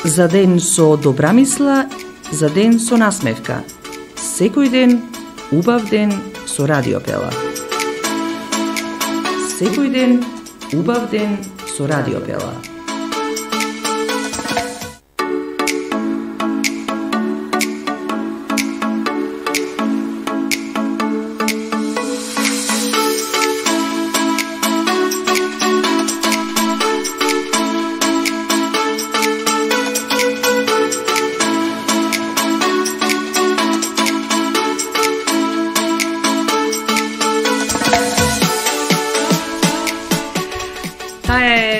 За ден со добра мисла, за ден со насмевка. Секој ден, убав ден со Радио Пела. Секој ден, убав ден со Радио Пела.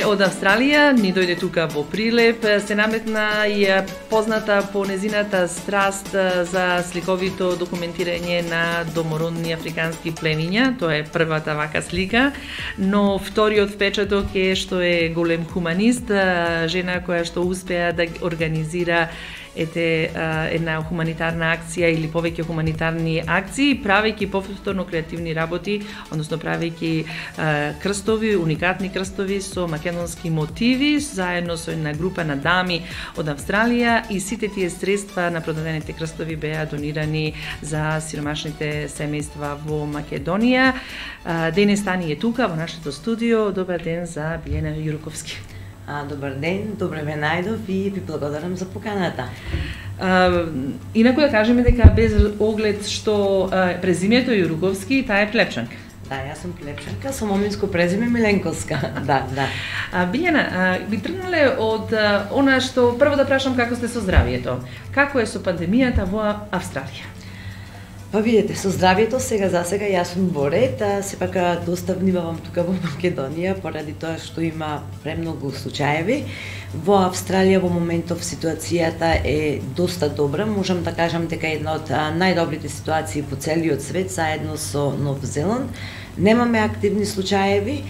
Од Австралија ни дојде тука во Прилеп, се наметна и позната по незината страст за сликовито документирање на домородни африкански племиња. Тоа е првата вака слика, но вториот впечаток е што е голем хуманист, жена која што успеа да организира една хуманитарна акција или повеќе хуманитарни акции, правејќи повторно креативни работи, односно правејќи крстови, уникатни крстови со македонски мотиви, заедно со една група на дами од Австралија, и сите тие средства на продадените крстови беа донирани за сиромашните семејства во Македонија. Денес Тани е тука во нашето студио. Добар ден за Билјана Јуруковски. Добар ден, добре ме најдов и ви благодарам за поканата. Инаку да кажеме дека без оглед што презимето Јуруковски, таа е плепчанка. Да, јас сум плепчанка со моминско презиме Миленковска. Да. Билјана, би тргнале од она што прво да прашам како сте со здравието. Како е со пандемијата во Австралија? Па видите, со здравието сега за сега јас сум во ред, сепак доста внимавам тука во Македонија поради тоа што има премногу случаеви. Во Австралија во моментов ситуацијата е доста добра, можам да кажам дека една од најдобрите ситуации во целиот свет заедно со Нов Зеланд. Немаме активни случаеви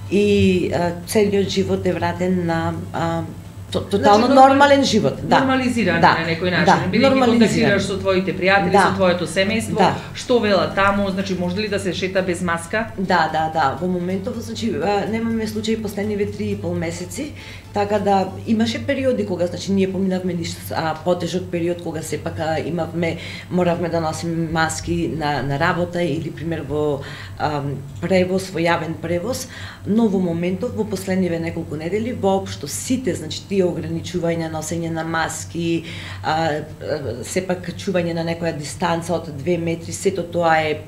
и целиот живот е вратен на тотално нормален живот. Нормализиран на некој начин. Бидејќи контактираш со твоите пријатели, со твоето семејство, што вела таму, значи може ли да се шета без маска? Да. Во моментов, значи немаме случаи последниве 3,5 месеци, така да имаше периоди кога значи ние поминавме потежок период кога сепак моравме да носиме маски на работа или пример во превоз, во јавен превоз, но во моментов во последниве неколку недели воопшто сите значи тие ограничувања, носење на маски, сепак чување на некоја дистанца од 2 метри, сето тоа е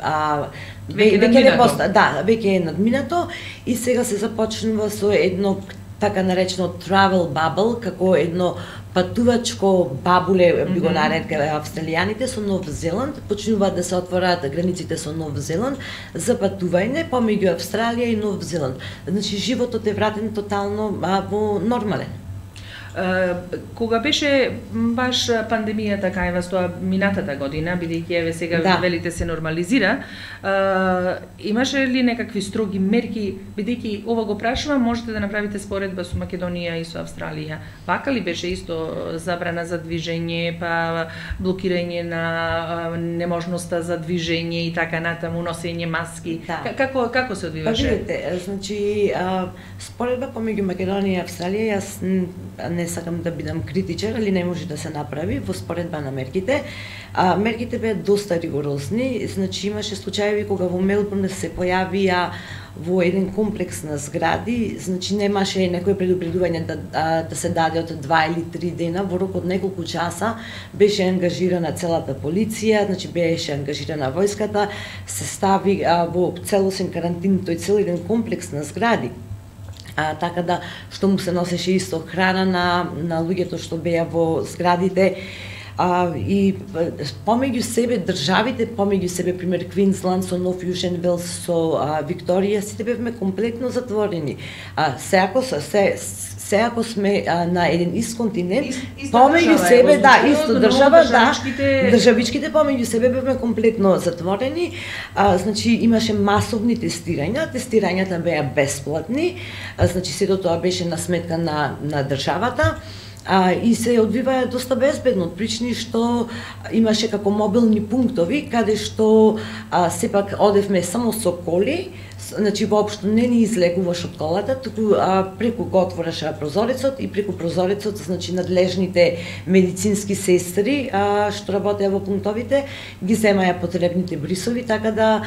веќе е надминато и сега се започнува со едно така наречено travel bubble, како едно патувачко бабуле, би го нарекале австралијаните, со Нов Зеланд. Почнуваат да се отвораат границите со Нов Зеланд за патување помеѓу Австралија и Нов Зеланд. Значи животот е вратен тотално во нормален. Кога беше баш пандемијата кај вас тоа минатата година, бидејќи еве сега велите се нормализира, имаше ли некакви строги мерки, бидејќи ова го прашувам, можете да направите споредба со Македонија и со Австралија. Вака ли беше исто забрана за движење, па блокирање на неможноста за движење и така натаму, носење маски? Како се одвиваше? Па видите, значи споредба помеѓу Македонија и Австралија, јас не сакам да бидам критичар, али не може да се направи во споредба на мерките. Мерките беа доста ригорозни, значи имаше случаеви кога во Мелбурн се појавија во еден комплекс на згради, значи немаше некој предупредување да се даде од 2 или 3 дена, во рок од неколку часа беше ангажирана целата полиција, значи беше ангажирана војската, се стави во целосен карантин тој цел еден комплекс на згради. Така да што му се носеше исто храна на луѓето што беа во зградите, и помеѓу себе државите, помеѓу себе пример Квинсланд со Нов Јужен Велс со Викторија, сите бевме комплетно затворени. Се ако сме на еден ист континент, помеѓу себе, исто држава, државичките помеѓу себе бевме комплетно затворени, значи имаше масовни тестирањата беа бесплатни, значи сето тоа беше на сметка на државата, и се одвиваа доста безбедно, од причини што имаше како мобилни пунктови, каде што сепак одевме само со коли, Значи воопшто не ни излегуваш од колата, туку преку го отвораш прозорецот и преку прозорецот, значи надлежните медицински сестри што работеа во пунктовите ги земаја потребните брисови, така да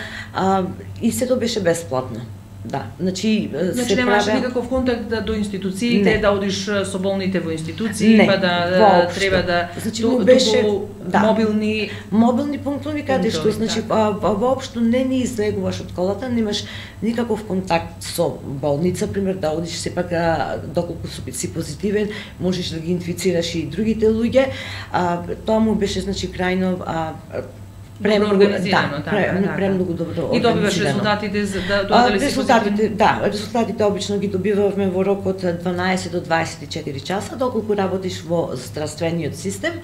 и сето беше бесплатно. Да, значи се немаш никаков контакт до институциите, да одиш со болните во институции, па да треба да значи беше мобилни пунктови каде што значи воопшто не ни излегуваш од колата, немаш никаков контакт со болница, пример да одиш сепак доколку си позитивен, можеш да ги инфицираш и другите луѓе. Тоа му беше значи крајно премногу организирано, премногу добро. И добиваш резултатите за дали се позитивни? Да, резултатите обично ги добивавме во рок од 12 до 24 часа, доколку работиш во здравствениот систем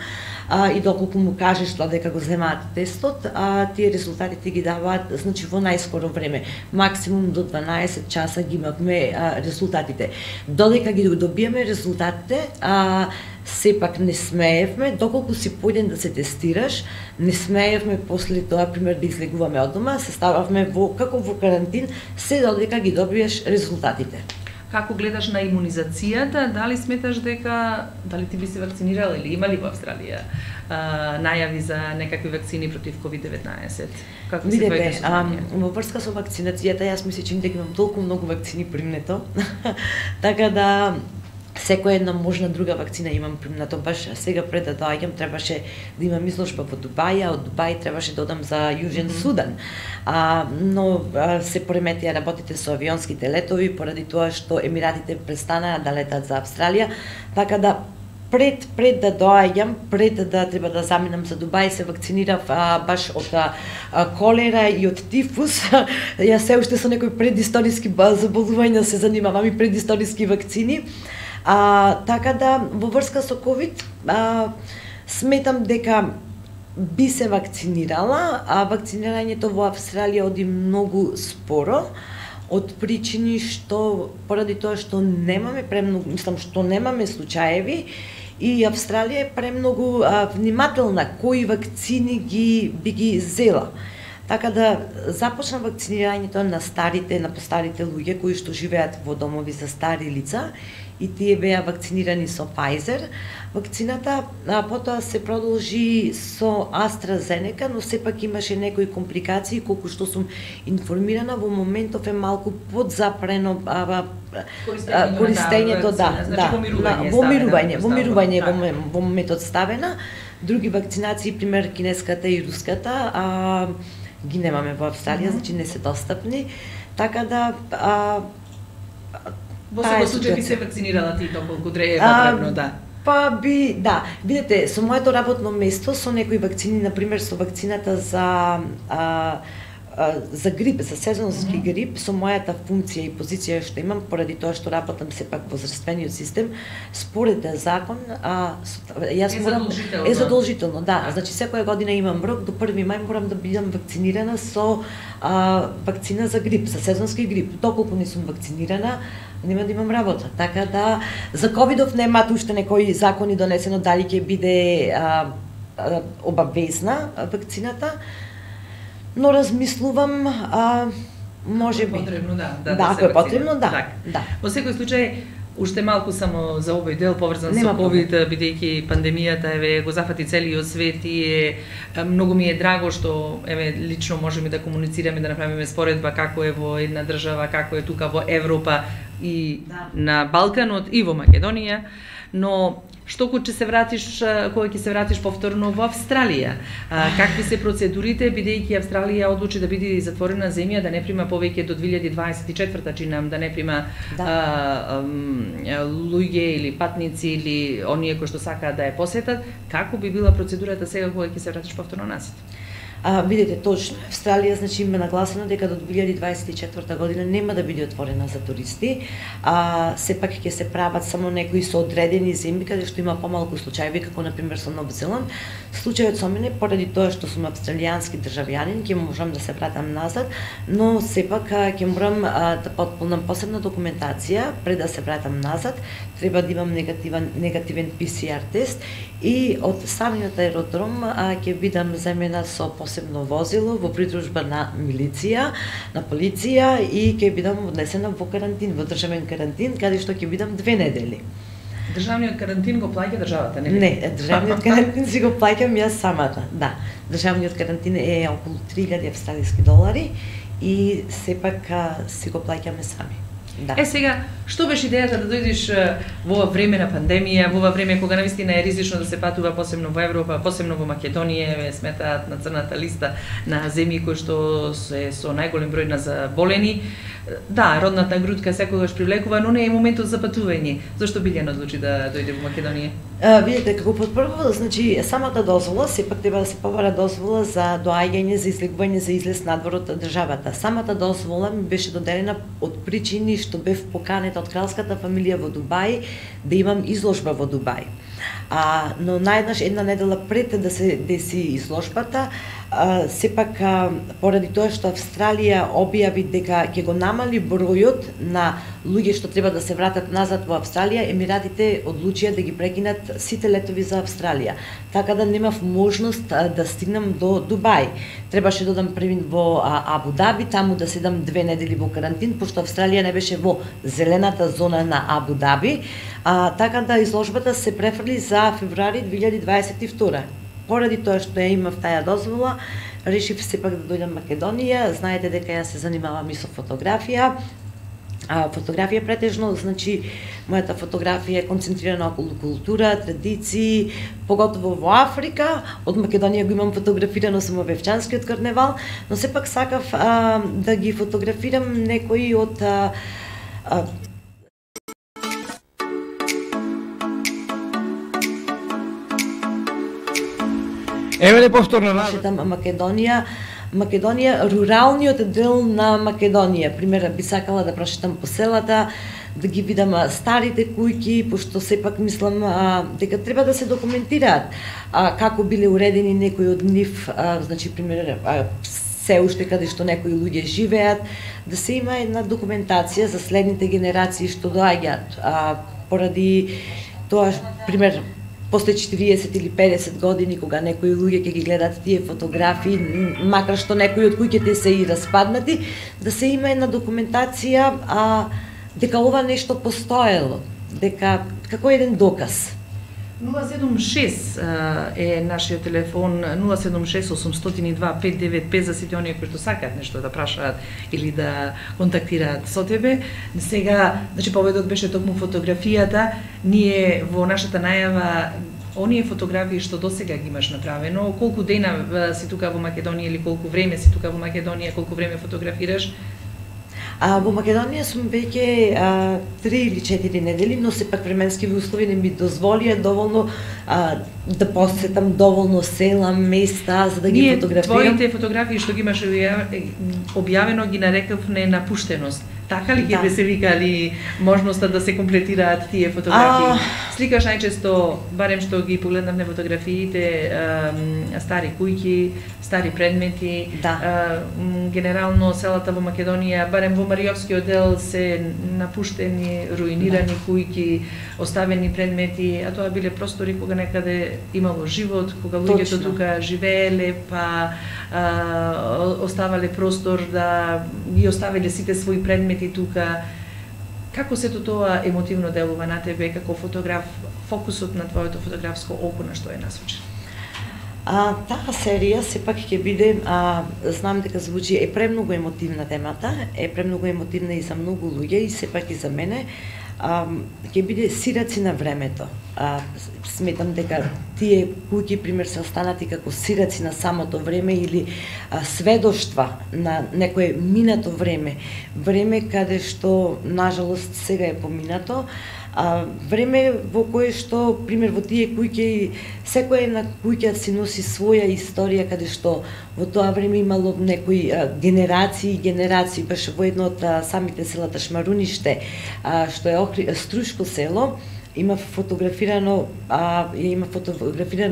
и доколку му кажеш дека го земаат тестот, тие резултатите ги даваат значи во најскоро време. Максимум до 12 часа ги имавме резултатите. Додека ги добиеме резултатите, сепак не смеевме, доколку си појден да се тестираш, не смеевме после тоа, пример, да излегуваме од дома, се стававме како во карантин, се додека ги добиеш резултатите. Како гледаш на имунизацијата? Дали сметаш дека, дали ти би се вакцинирала или има ли во Австралија најави за некакви вакцини против COVID-19? Како се твоите состојање? Во врска со вакцинацијата, јас мислам дека имам толку многу вакцини примнето, така да секоја една можна друга вакцина имам примнато. Баш сега пред да доаѓам требаше да имам изложба во Дубај, а од Дубај требаше да одам за Јужен Судан. Но се пореметија работите со авионските летови поради тоа што Емиратите престанаа да летат за Австралија, така да пред да доаѓам, пред да треба да заминам за Дубај, се вакцинирав баш од колера и од тифус. Јас се уште со некои предисториски заболувања се занимавам и предисториски вакцини. Така да, во врска со COVID, сметам дека би се вакцинирала, а вакцинирањето во Австралија оди многу споро, од причини што, поради тоа што немаме премногу, мислам што немаме случаеви, и Австралија е премногу внимателна кои вакцини би ги зела. Така да започна вакцинирањето на старите, на постарите луѓе кои што живеат во домови за стари лица, и тие беа вакцинирани со Pfizer вакцината, потоа се продолжи со AstraZeneca, но сепак имаше некои компликации, колку што сум информирана, во моментов е малку подзапрено користењето, во мирување во моментот ставена. Други вакцинации, пример кинеската и руската, ги немаме во Австралија, значи не се достапни, така да во секој случај би се вакцинирала ти толку е потребно, да. Па би, да. Видете, со моето работно место, со некои вакцини, например со вакцината за грип, за сезонски грип, со мојата функција и позиција што имам, поради тоа што работам сепак во здравствениот систем, според закон, јас морам задолжително, да. Значи секоја година имам рок, до 1 мај морам да бидам вакцинирана со вакцина за грип, за сезонски грип. Доколку не сум вакцинирана, нема да имам работа. Така да за ковидов немаат уште некои закони донесено дали ќе биде обавезна вакцината, но размислувам, може би. Потребно, да. Ако е потребно, да. Во секој случај, уште малку само за овој дел поврзан со ковид, бидејќи пандемијата го зафати целиот свет и многу ми е драго што лично можеме да комуницираме, да направиме споредба како е во една држава, како е тука во Европа и на Балканот и во Македонија, но што кога ќе се вратиш повторно во Австралија? Какви се процедурите, бидејќи Австралија одлучи да биде затворена земја, да не прима повеќе до 2024 чинам, да не прима луѓе или патници или оние кои што сакаат да ја посетат, како би била процедурата сега кога ќе се вратиш повторно назад? Видете, точно, Австралија значи има нагласено дека до 2024 година нема да биде отворена за туристи, сепак ќе се прават само некои со одредени земји каде што има помалку случаи, како например со Нов Зеланд. Случајот со мене, поради тоа што сум австралијански државјанин, ќе можам да се вратам назад, но сепак ќе морам да потполнам посебна документација пред да се вратам назад. Треба да имам негативен PCR тест и од самиот аеродром ќе бидам земена со посебно возило во придружба на милиција, на полиција и ќе бидам однесена во карантин, во државен карантин, каде што ќе бидам 2 недели. Државниот карантин го плаќа државата, нели? Не, државниот карантин си го плаќам јас самата. Да, државниот карантин е околу 3000 австралиски долари и сепак си го плаќаме сами. Да. Сега, што беше идејата да дојдеш во ова време на пандемија, во ова време кога навистина е ризично да се патува, посебно во Европа, посебно во Македонија, ве сметаат на црната листа на земји кои што се со најголем број на заболени. Да, родната грудка секогаш привлекува, но не е моментот за патување. Зошто Билјана одлучи да дојде во Македонија? Видите, како прво, значи самата дозвола, сепак треба да се побара дозвола за доаѓање, за излегување, за излез надвор од државата. Самата дозвола ми беше доделена од причини што бев поканета од кралската фамилија во Дубај да имам изложба во Дубај. Но наеднаш една недела пред да се деси изложбата, сепак поради тоа што Австралија објави дека ќе го намали бројот на луѓе што треба да се вратат назад во Австралија, Емиратите одлучија да ги прекинат сите летови за Австралија. Така да немав можност да стигнам до Дубај. Требаше да одам првин во Абу Даби, таму да седам 2 недели во карантин, пошто Австралија не беше во зелената зона на Абу Даби. Така да изложбата се префрли за февруари 2022. Поради тоа што ја имав таа дозвола, решив сепак да дојдам Македонија. Знаете дека ја се занимавам и со фотографија. Фотографија претежно, значи, мојата фотографија е концентрирана околу култура, традиции, поготово во Африка. Од Македонија го имам фотографирано само Вевчанскиот карневал, но сепак сакав да ги фотографирам некои од Еве повторно нашата Македонија, руралниот дел на Македонија. Пример, би сакала да прошетам по селата, да ги видам старите кујки, пошто сепак мислам дека треба да се документираат како биле уредени некои од нив, значи пример се уште каде што некои луѓе живеат, да се има една документација за следните генерации што доаѓаат. Поради тоа, пример, после 40 или 50 години, кога некои луѓе ќе ги гледат тие фотографии, макар што некои од куќите се и распаднати, да се има една документација дека ова нешто постоело, дека како еден доказ. 076 е нашиот телефон, 076-802-595 за сите оние кои што сакаат нешто да прашаат или да контактираат со тебе. Сега, значи поведот беше токму фотографијата, ние во нашата најава оние фотографии што досега ги имаш направено, колку дена си тука во Македонија или колку време си тука во Македонија, колку време фотографираш? Во Македонија сум веќе 3 или 4 недели, но сепак временскиви услови не ми дозволија доволно да посетам доволно села, места за да ги фотографирам. Твоите фотографии што ги имаш објавено ги нарекавме напуштеност. Така ли ги се викали можноста да се комплетираат тие фотографии? Сликаш најчесто, барем што ги погледнавме фотографиите, стари кујки, стари предмети, генерално селата во Македонија, барем во Мариовскиот дел се напуштени, руинирани кујки, оставени предмети, а тоа биле простори кога некаде имало живот, кога луѓето тука живееле, па оставале простор да ги оставиле сите своји предмети тука. Како сето тоа емотивно делува на тебе како фотограф, фокусот на твоето фотографско око на што е насочен? Таа серија сепак ќе биде, знам дека звучи, е премногу емотивна темата, е премногу емотивна и за многу луѓе и сепак и за мене, ќе биде сираци на времето. Сметам дека тие куќи, пример, се останати како сираци на самото време или сведоштва на некое минато време. Време каде што, нажалост, сега е поминато, време во кое што, пример, во тие куќи, секоја една куќа си носи своја историја, каде што во тоа време имало некои генерации и генерации. Беше во едно од самите селата Шмаруниште, што е Струшко село, има фотографирано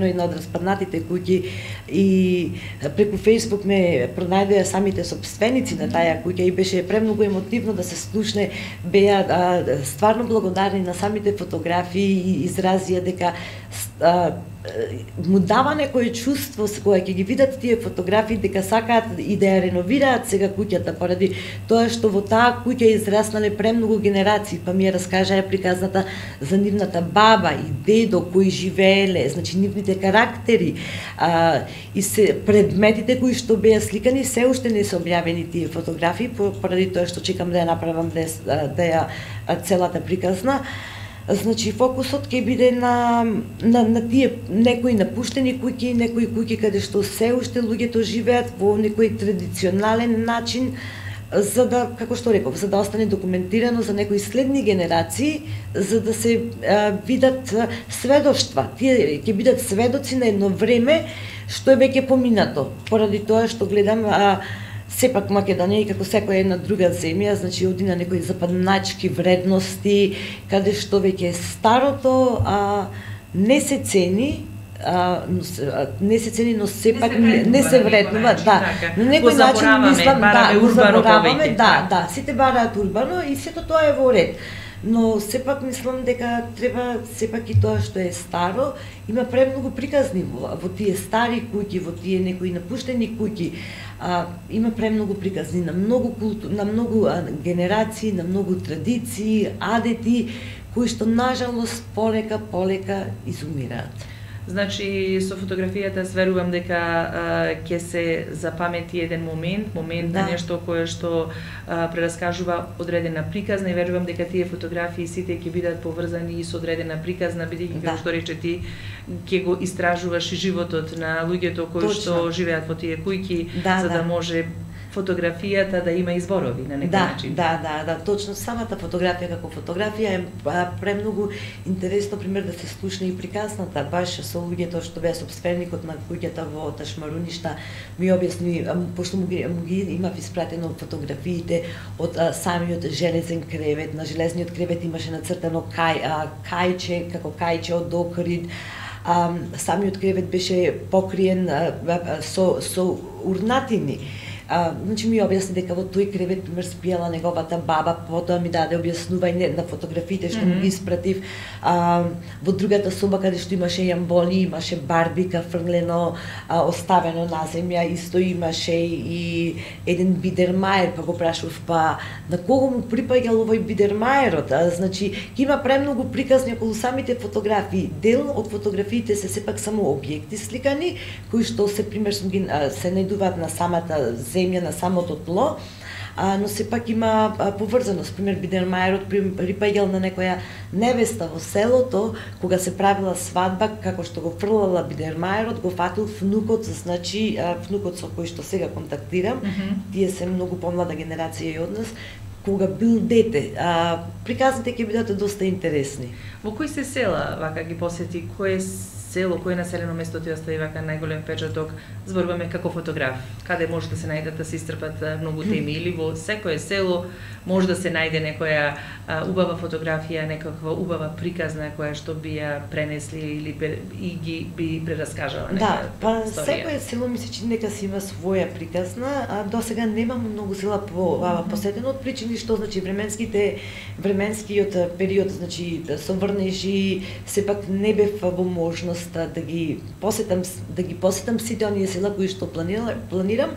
една од распаднатите куќи и преку Facebook ме пронајдоа самите сопственици на таа куќа и беше премногу емотивно да се слушне, беа стварно благодарни на самите фотографии и изразија дека му дава некое чувство кога ќе ги видат тие фотографии дека сакаат и да ја реновираат сега куќата поради тоа што во таа куќа израснале премногу генерации, па ми ја раскажаа приказната за нивната баба и дедо кои живееле, значи нивните карактери, и се предметите кои што беа сликани се уште не се објавени тие фотографии поради тоа што чекам да ја направам да ја целата приказна. Значи фокусот ќе биде на тие некои напуштени куќи, некои куќи каде што се уште луѓето живеат во некој традиционален начин, за да, како што реков, за да остане документирано за некои следни генерации, за да се видат сведоштва. Тие ќе бидат сведоци на едно време што е веќе поминато, поради тоа што гледам сепак Македонија и како секоја една друга земја, значи оди на некои западначки вредности, каде што веќе старото не се цени, но сепак не се вреднува, да. На некој начин мислам го забораваме, да, сите бараат урбано и сето тоа е во ред. Но сепак мислам дека треба сепак и тоа што е старо, има премногу приказни во тие стари куќи, во тие некои напуштени куќи. Има премногу приказни на многу генерации, на многу традиции, адети кои што нажалост полека изумираат. Значи со фотографијата верувам дека ќе се запамети еден момент на нешто кое што прераскажува одредена приказна и верувам дека тие фотографии сите ќе бидат поврзани и со одредена приказна, бидејќи како што рече ти ќе го истражуваш и животот на луѓето кои што живеат во тие куќи, за да може фотографијата да има изборови на некој начин. Да, точно самата фотографија како фотографија е премногу интересно пример да се слушне и приказната, баш со луѓето што беа сопственикот на куќата во Ташмаруништа ми објасни, пошто му ги имав испратено фотографиите од самиот железен кревет, на железниот кревет имаше нацртано кајче, како кајче од Охрид. Самиот кревет беше покриен со урнатини. Значи ми објасни дека во тој кревет пример спиела неговата баба, потоа ми даде објаснување на фотографиите што му ги испратив. Во другата соба каде што имаше јамбони, имаше барбика фрлено, оставено на земја, исто имаше и еден бидермаер, па го прашав на кого му припаѓал овој бидермаерот. Значи има премногу приказни околу самите фотографии. Дел од фотографиите се сепак само објекти сликани кои што се пример се најдуваат на самата земја, на самото тло, но сепак има поврзаност. Пример, бидермаерот припаѓал на некоја невеста во селото, кога се правила свадба, како што го фрлала бидермаерот, го фатил внукот, значи внукот со кој што сега контактирам, тие се многу помлада генерација и од нас, кога бил дете. Приказните ќе бидат доста интересни. Во кои се села вака ги посети, кое село, кое населено место ти остави вака најголем впечаток, зборуваме како фотограф, каде може да се најдат да се истрпат многу теми, или во секое село може да се најде некоја убава фотографија, некаква убава приказна која што би ја пренесли или и би прераскажала некоја историја. Да, секое село ми се чини дека си има своја приказна, до сега немам многу села посетено од причини што значи временскиот период, значи со врнежи, сепак не бев во можност да ги посетам сите оние села кои што планирам.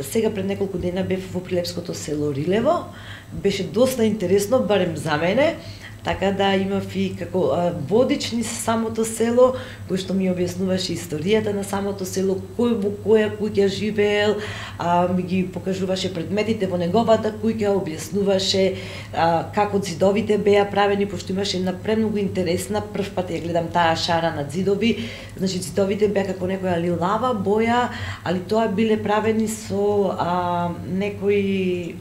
Сега пред неколку дена бев во прилепското село Рилево. Беше доста интересно, барем за мене. Така да имав и како водич низ самото село, кој што ми објаснуваше историјата на самото село, кој во која куќа живеел, ми ги покажуваше предметите во неговата куќа, објаснуваше како зидовите беа правени, пошто имаше една премногу интересна, прв пат ја гледам таа шара на зидови, значи зидовите беа како некоја лилава боја, али тоа биле правени со некои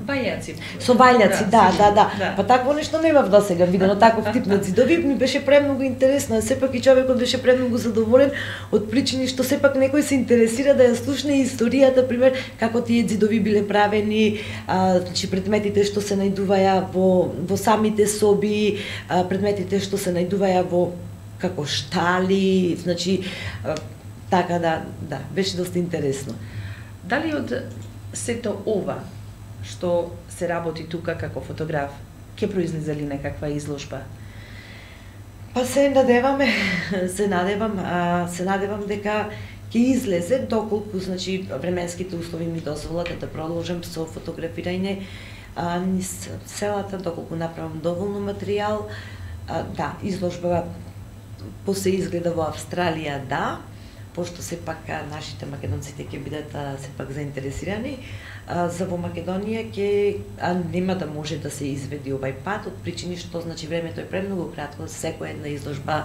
вајаци. Со вајаци, да. Па такво нешто немав до сега видено, таков тип на зидови, ми беше премногу интересно, сепак и човекот беше премногу задоволен од причини што сепак некој се интересира да ја слушне историјата, пример, како тие зидови биле правени, значи предметите што се најдуваја во самите соби, предметите што се најдуваја во како штали, значи така да, беше доста интересно. Дали од сето ова што се работи тука како фотограф ќе произлезе ли некаква изложба? Па се надевам дека ќе излезе доколку значи временските услови ми дозволат да продолжам со фотографирање низ селата, доколку направам доволно материјал. Да, изложба после изгледа во Австралија, да, пошто сепак нашите македонците ќе бидат сепак заинтересирани. За во Македонија нема да може да се изведи овај пат, од причини што значи времето е премногу кратко, секоја една изложба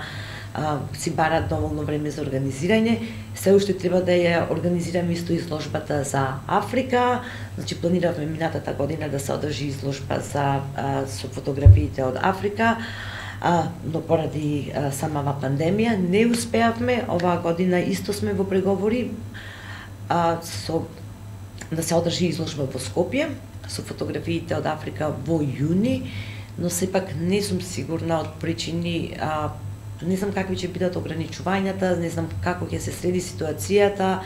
си бара доволно време за организирање. Се уште треба да ја организираме исто изложбата за Африка. Значи планиравме минатата година да се одржи изложба со фотографиите од Африка, но поради самава пандемија не успеавме. Оваа година исто сме во преговори да се одржи изложба во Скопје со фотографиите од Африка во јуни, но сепак не сум сигурна од причини не знам какви ќе бидат ограничувањата, не знам како ќе се среди ситуацијата.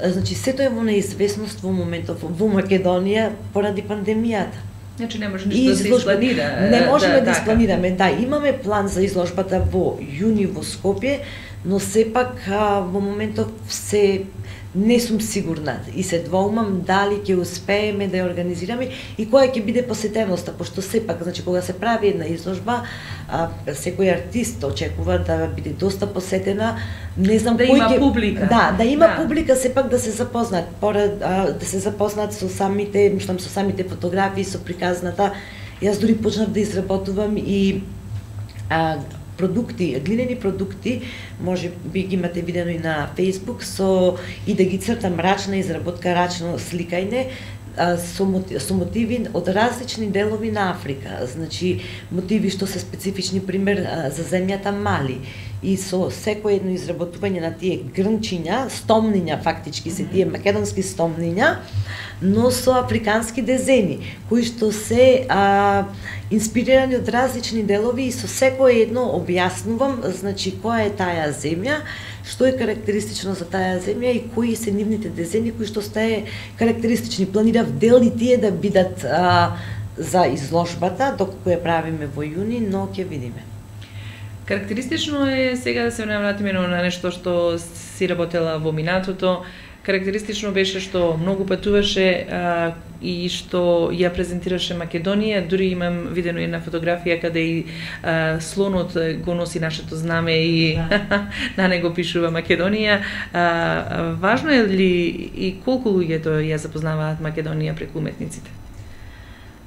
Значи сето е во неизвестност во моментов во Македонија поради пандемијата. Значи не може ништо да се испланира. Не можеме да испланираме. Да, имаме план за изложбата во јуни во Скопје, но сепак во моментов не сум сигурна и се двоумам дали ќе успееме да ја организираме и која ќе биде посетеноста, пошто сепак, значи кога се прави една изложба, секој артист очекува да биде доста посетена, не знам да кој има публика. Да има публика, сепак да се запознаат, да се запознаат со самите фотографии, со приказната. Јас дури почнав да изработувам и продукти, глинени продукти, може би ги имате видено и на Facebook, и да ги цртам рачна изработка, рачно сликање, со мотиви од различни делови на Африка. Значи, мотиви што се специфични, пример, за земјата Мали. И со секој едно изработување на тие грнчиња, стомниња, фактички се тие македонски стомниња, но со африкански дезени, кои што се инспирирани од различни делови и со секој едно објаснувам, значи, која е таа земја, што е карактеристично за таа земја и кои се нивните дезени кои што стае карактеристични. Планирав дели тие да бидат за изложбата, доколку ја правиме во јуни, но ќе видиме. Карактеристично е сега да се навратиме на нешто што си работела во минатото. Карактеристично беше што многу патуваше и што ја презентираше Македонија. Дури имам видено една фотографија каде и слонот го носи нашето знаме и на него пишува Македонија. Важно е ли и колку луѓето ја запознаваат Македонија преку уметниците?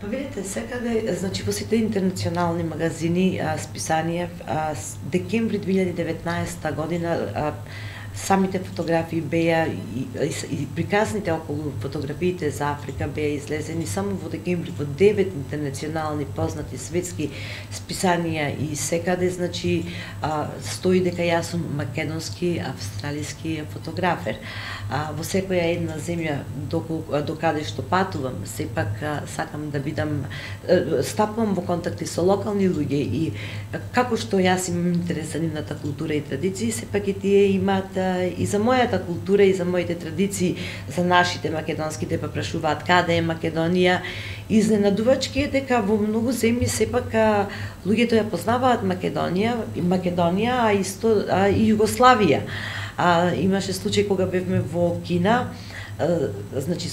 Па видите, секаде, значи во сите интернационални магазини, списанија, декември 2019 година самите фотографии беа и приказните околу фотографиите за Африка беа излезени само во декември во 9 интернационални познати светски списанија и секаде, значи, стои дека јас сум македонски австралиски фотографер. Во секоја една земја до каде што патувам, сепак сакам да бидам, стапувам во контакти со локални луѓе и како што јас имам интерес за нивната култура и традиции, сепак и тие имаат и за мојата култура и за моите традиции, за нашите македонските, па прашуваат каде е Македонија. Изненадувачки е дека во многу земји сепак луѓето ја познаваат Македонија, а исто и Југославија. Имаше случај кога бевме во Кина, значи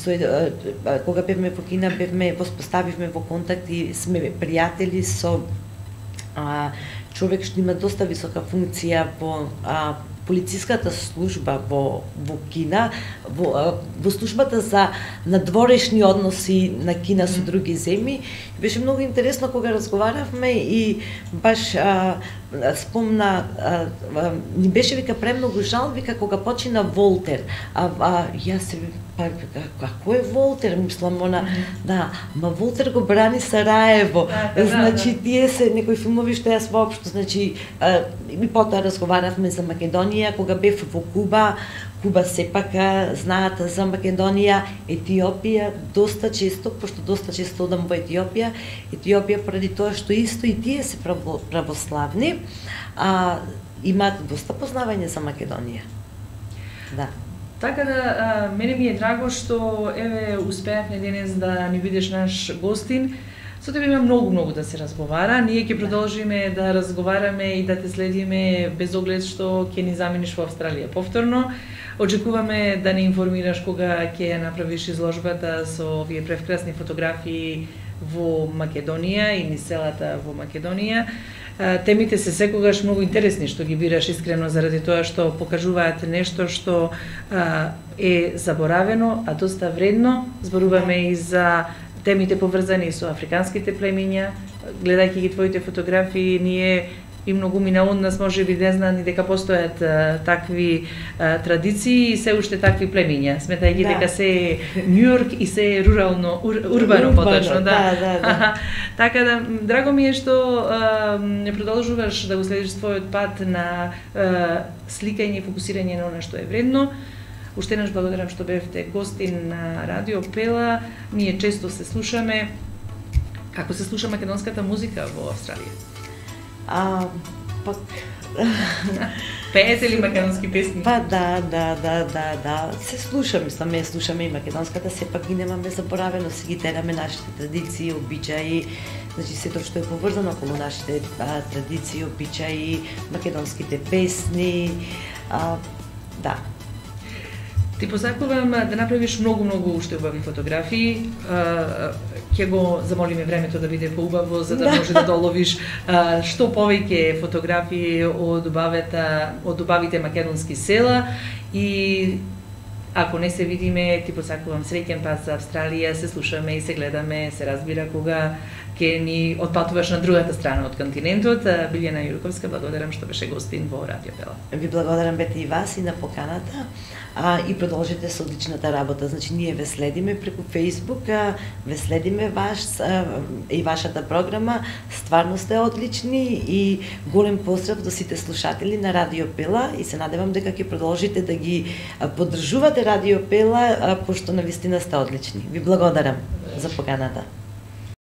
кога бевме во Кина, воспоставивме во контакт и сме пријатели со човек што има доста висока функција во полициската служба во Кина, во службата за надворешни односи на Кина со други земји. Беше многу интересно кога разговаравме и баш спомна, ни беше вика премногу жал, вика кога почина Волтер. Јас се како е Волтер, мислам она, да, ма Волтер го брани Сараево. Значи тие се некои филмови што јас воопшто, значи и потоа разговаравме за Македонија кога бев во Куба. Куба сепак знаат за Македонија, Етиопија доста често, пошто доста често одам во Етиопија поради тоа што исто и тие се православни, имаат доста познавање за Македонија. Да. Така да, мене ми е драго што еве успеавме денес да ни бидеш наш гостин. Со тебе има многу да се разговара. Ние ќе продолжиме да разговараме и да те следиме без оглед што ќе ни замениш во Австралија повторно. Очекуваме да не информираш кога ќе ја направиш изложбата со овие превкрасни фотографии во Македонија и низ селата во Македонија. Темите се секогаш многу интересни што ги бираш искрено заради тоа што покажуваат нешто што е заборавено, а доста вредно. Зборуваме и за темите поврзани со африканските племиња. Гледајќи ги твоите фотографии, ние и многу мина од нас може би не знаат ни дека постојат такви традиции и се уште такви племиња, сметајќи дека се Њујорк и се рурално, урбано поточно, да. Така да, драго ми е што продолжуваш да го следиш својот пат на сликање и фокусирање на она што е вредно. Уште еднаш благодарам што бевте гостин на Радио Пела. Ние често се слушаме. Како се слуша македонската музика во Австралија? Пак... Пеете ли македонски песни? Па да. Се слушаме и македонската, сепак ги немаме заборавено, се ги тераме нашите традиции, обичаи, значи сето што е поврзано околу нашите традиции, обичаи, македонските песни, да. Ти посакувам да направиш многу уште убави фотографии. Ќе го замолиме времето да биде поубаво за да може да доловиш што повеќе фотографии од убавите македонски села и ако не се видиме, ти посакувам среќен пат за Австралија, се слушаме и се гледаме, се разбира кога ќе ни отпатуваш на другата страна од континентот. Билјана Јурковска, благодарам што беше гостин во Радио Пела. Ви благодарам бете и вас и на поканата. И продолжите со одличната работа. Значи, ние ве следиме преку Facebook, ве следиме и вашата програма. Стварно сте одлични и голем поздрав до сите слушатели на Радио Пела и се надевам дека ќе продолжите да ги поддржувате Радио Пела, пошто навистина сте одлични. Ви благодарам за поканата.